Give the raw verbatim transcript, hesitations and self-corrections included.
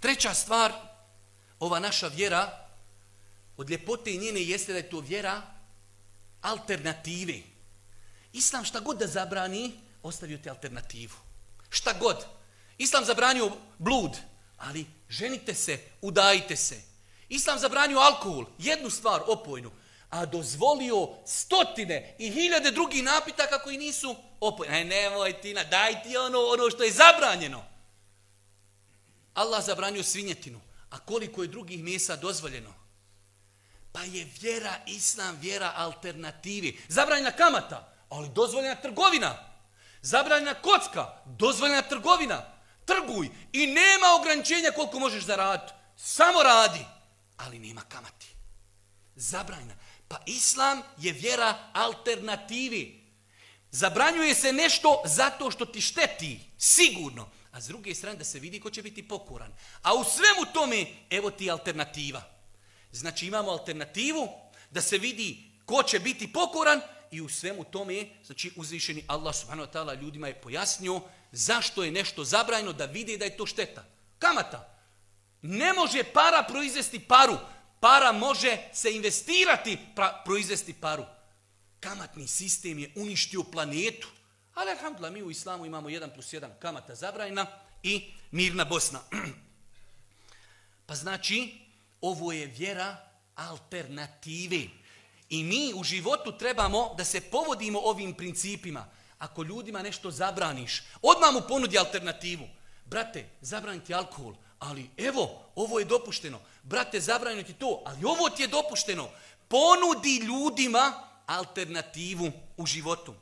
Treća stvar, ova naša vjera, od ljepote njene jeste da je to vjera alternative. Islam šta god da zabrani, ostavio te alternativu. Šta god. Islam zabranio blud, ali ženite se, udajite se. Islam zabranio alkohol, jednu stvar, opojnu, a dozvolio stotine i hiljade drugih napitaka koji nisu opojni. Ne, nemoj ti, daj ti ono, ono što je zabranjeno. Allah zabranio svinjetinu, a koliko je drugih mesa dozvoljeno? Pa je vjera, Islam, vjera alternativi. Zabranjena kamata, ali dozvoljena trgovina. Zabranjena kocka, dozvoljena trgovina. Trguj i nema ograničenja koliko možeš zaraditi. Samo radi, ali nema kamati. Zabranjena. Pa Islam je vjera alternativi. Zabranjuje se nešto zato što ti šteti, sigurno. A s druge strane da se vidi ko će biti pokoran. A u svemu tome, evo ti alternativa. Znači imamo alternativu da se vidi ko će biti pokoran i u svemu tome, znači uzvišeni Allah subhanahu wa ta'ala ljudima je pojasnio zašto je nešto zabranjeno da vide da je to šteta. Kamata. Ne može para proizvesti paru. Para može se investirati, pra, proizvesti paru. Kamatni sistem je uništio planetu. Ali alhamdulillah, mi u islamu imamo jedan plus jedan kamata zabranjena i mirna Bosna. Pa znači, ovo je vjera alternative. I mi u životu trebamo da se povodimo ovim principima. Ako ljudima nešto zabraniš, odmah mu ponudi alternativu. Brate, zabraniti alkohol, ali evo, ovo je dopušteno. Brate, zabraniti to, ali ovo ti je dopušteno. Ponudi ljudima alternativu u životu.